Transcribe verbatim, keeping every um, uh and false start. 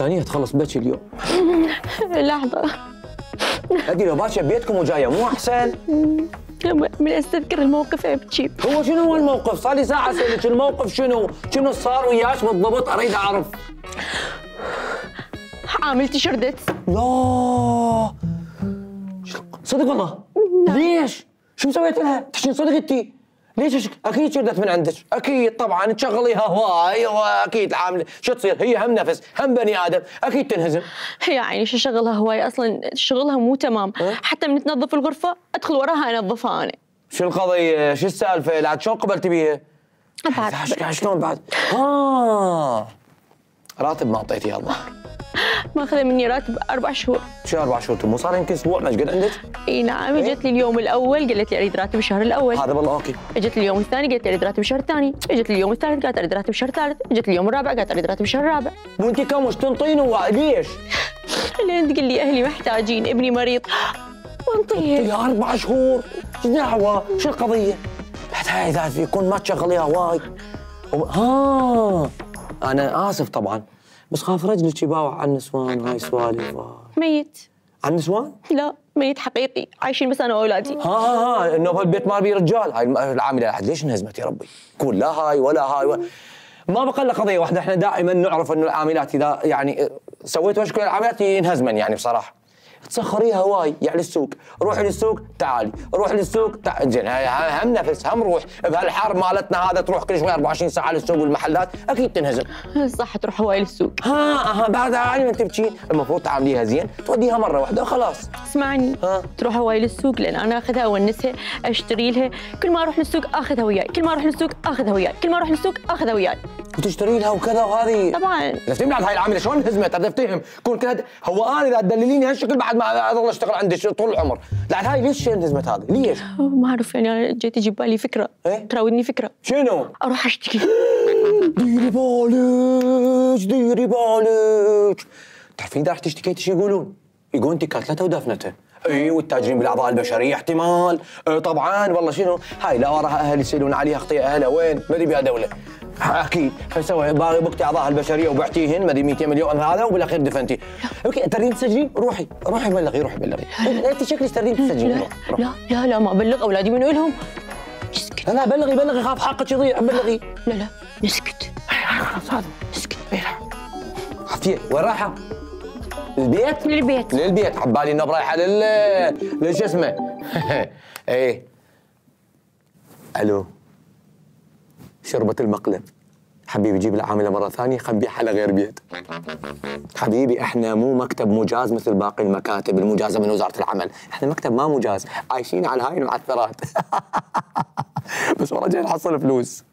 ثانية تخلص بكي اليوم. لحظة. ادي لو باشا ببيتكم وجاية مو احسن؟ من استذكر الموقف ابكي. هو شنو هو الموقف؟ صار لي ساعة اسألك الموقف شنو؟ شنو صار وياك بالضبط اريد اعرف. عاملتي شردت. لا صدق والله؟ ليش؟ شو مسويت لها؟ تحكين صدق انتي؟ ليش؟ اكيد شردت من عندك، اكيد طبعا تشغليها هواي واكيد عامله، شو تصير؟ هي هم نفس، هم بني ادم، اكيد تنهزم. يا عيني شو شغلها هواي اصلا شغلها مو تمام، أه؟ حتى من تنظف الغرفة ادخل وراها انظفها انا. شو القضية؟ شو السالفة؟ لا شلون قبلتي بيها؟ بعد شلون بعد؟ اه راتب ما اعطيتيها الظاهر. ماخذه مني راتب اربع شهور. شو اربع شهور؟ مو صار يمكن اسبوع ما قد عندك؟ اي نعم، اجت لي اليوم الاول قالت لي اريد راتب الشهر الاول. هذا والله اوكي. اجت لي اليوم الثاني قالت لي اريد راتب الشهر الثاني، اجت لي اليوم الثالث قالت اريد راتب الشهر الثالث، اجت لي اليوم الرابع قالت اريد راتب الشهر الرابع. وانت كم وش تنطين ليش؟ لين تقول لي اهلي محتاجين، ابني مريض وانطيه. يا اربع شهور، ايش دعوه؟ شو القضية؟ بعد هاي اذا يكون ما تشغليها وايد. ها انا اسف طبعا، بس خاف رجلك يباوع على النسوان، هاي سوالف. ميت. على النسوان؟ لا ميت حقيقي، عايشين بس انا واولادي. ها ها ها انه بهالبيت ما بي رجال، هاي العامله احد ليش انهزمت يا ربي؟ قول لا هاي ولا هاي ولا. ما بقى الا قضيه واحده، احنا دائما نعرف انه العاملات اذا يعني سويت مشكله العاملات ينهزمن يعني بصراحه. تسخريها هواي يعني للسوق، روحي للسوق تعالي، روحي للسوق تعالي، زين هم نفس هم روح، بهالحر مالتنا هذا تروح كل شوي أربعة وعشرين ساعه للسوق والمحلات، اكيد تنهزم. صح تروح هواي للسوق. ها ها بعد عادي ما تبكين، المفروض تعامليها زين، توديها مره واحده وخلاص. اسمعني، ها؟ تروح هواي للسوق لان انا اخذها اونسها، اشتري لها، كل ما اروح للسوق اخذها وياي، كل ما اروح للسوق اخذها وياي، كل ما اروح للسوق اخذها وياي. وتشتري لها وكذا وهذه طبعا. لفتي بعد هاي العامله شلون انهزمت؟ اريد افتهم، كون كذا هو انا اذا تدلليني هالشكل بعد ما اظل اشتغل عندك طول العمر، لا هاي ليش انهزمت هذه؟ ليش؟ ما اعرف يعني انا جيت يجي ببالي فكره. ايه؟ تراودني فكره. شنو؟ اروح اشتكي. ديري بالك ديري بالك، تعرفين اذا رحت اشتكيتي شو يقولون؟ يقولون انت كاتلته ودفنته. اي والتاجرين بالاعضاء البشريه احتمال. اه طبعا والله شنو؟ هاي لا وراها اهل يسالون عليها اخطي اهلها وين؟ ما ادري بها دوله. اكيد فسوي باغي بكتي اعضاء البشريه وبعتيهن ما ادري مئتين مليون هذا وبالاخير دفنتي. اوكي تريدين تسجلين؟ روحي روحي بلغي روحي بلغي. انت شكلك تريدين تسجلين. لا لا لا لا ما ابلغ اولادي منو لهم. اسكت. لا لا بلغي بلغي خاف حقك يضيع بلغي. لا لا نسكت. خلاص هذا اسكت. عافيه وين رايحه؟ للبيت؟ للبيت. للبيت، عبالي انه رايحه لل لل شو اسمه؟ ايه الو شربة المقلب حبيبي جيب العامله مره ثانيه خل نبيعها على غير بيت. حبيبي احنا مو مكتب مجاز مثل باقي المكاتب المجازه من وزاره العمل، احنا مكتب ما مجاز، عايشين على هاي المعثرات. بس ورا جاي نحصل فلوس.